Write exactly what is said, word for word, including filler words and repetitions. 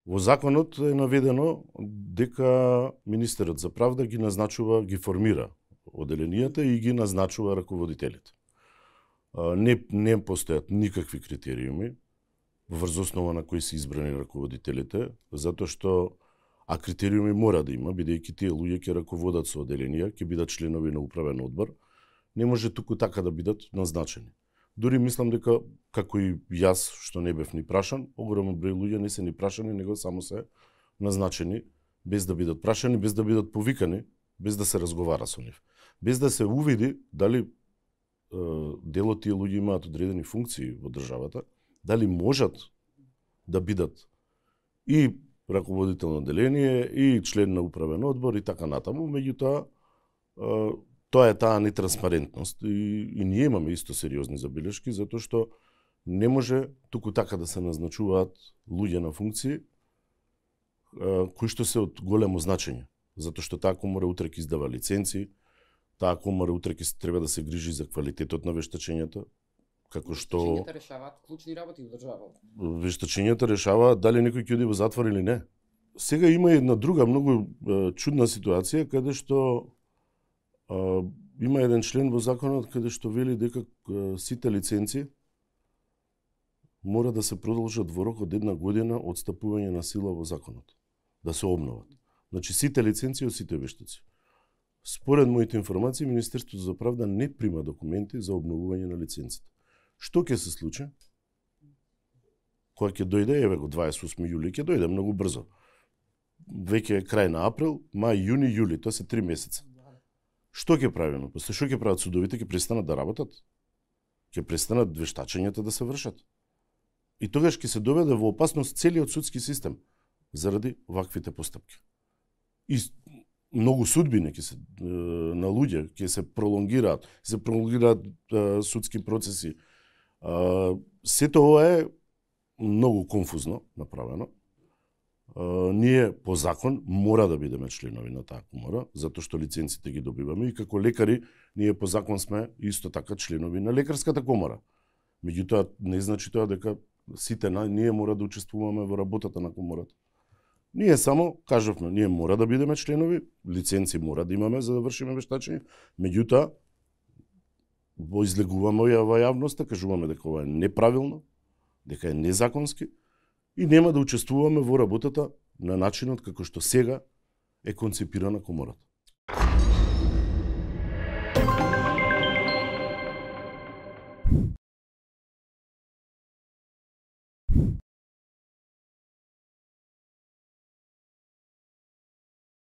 Во законот е наведено дека министерот за правда ги назначува, ги формира оделенијата и ги назначува раководителите. Не, не постојат никакви критериуми врз основа на кои се избрани раководителите, затоа што а критериуми мора да има, бидејќи тие луѓе ќе раководат со оделенија, ќе бидат членови на управен одбор, не може туку така да бидат назначени. Дури мислам дека, како и јас, што не бев ни прашан, огромен број луѓе не се ни прашани, него само се назначени, без да бидат прашани, без да бидат повикани, без да се разговара со нив. Без да се увиди дали е, дел од тие луѓе имаат одредени функции во државата, дали можат да бидат и раководител на оделение, и член на управен одбор, и така натаму, меѓутоа, тоа е таа нетранспарентност и, и ние имаме исто сериозни забелешки, затоа што не може туку така да се назначуваат луѓе на функции кои што се од големо значење, затоа што таа комора утре ќе издава лиценци, таа комора утре ќе треба да се грижи за квалитетот на вештачењата, како што Вештачењата решаваат клучни работи во државата. Вештачењата решаваат дали некој ќе оди во затвор или не. Сега има една друга многу чудна ситуација каде што Uh, има еден член во законот каде што вели дека uh, сите лиценци мора да се продолжат во рок од една година од стапување на сила во законот, да се обноват. Значи сите лиценци од сите вештаци. Според моите информации, Министерството за правда не прима документи за обновување на лиценците. Што ќе се случи? Кога ќе дојде, еве го дваесет и осми јули, ќе дојде многу брзо. Веќе е крај на април, мај, јуни, јули, тоа се три месеца. Што ќе правиме? После што ќе прават судовите? Ќе престанат да работат? Ќе престанат вештачењата да се вршат? И тогаш ќе се доведе во опасност целиот судски систем заради ваквите постапки. И многу судбини ќе се на луѓе ќе се пролонгираат, се пролонгираат судски процеси. Сето ова е многу конфузно направено. Uh, ние по закон мора да бидеме членови на таа комора, затоа што лиценците ги добиваме и како лекари ние по закон сме исто така членови на лекарската комора. Меѓутоа не значи тоа дека сите на, ние мора да учествуваме во работата на комората. Ние само кажавме, ние мора да бидеме членови, лиценци мора да имаме за да вршиме вештачење, меѓутоа во излегуваме во јавноста, кажуваме дека ова е неправилно, дека е незаконски, и нема да учествуваме во работата на начинот како што сега е концепирана комората.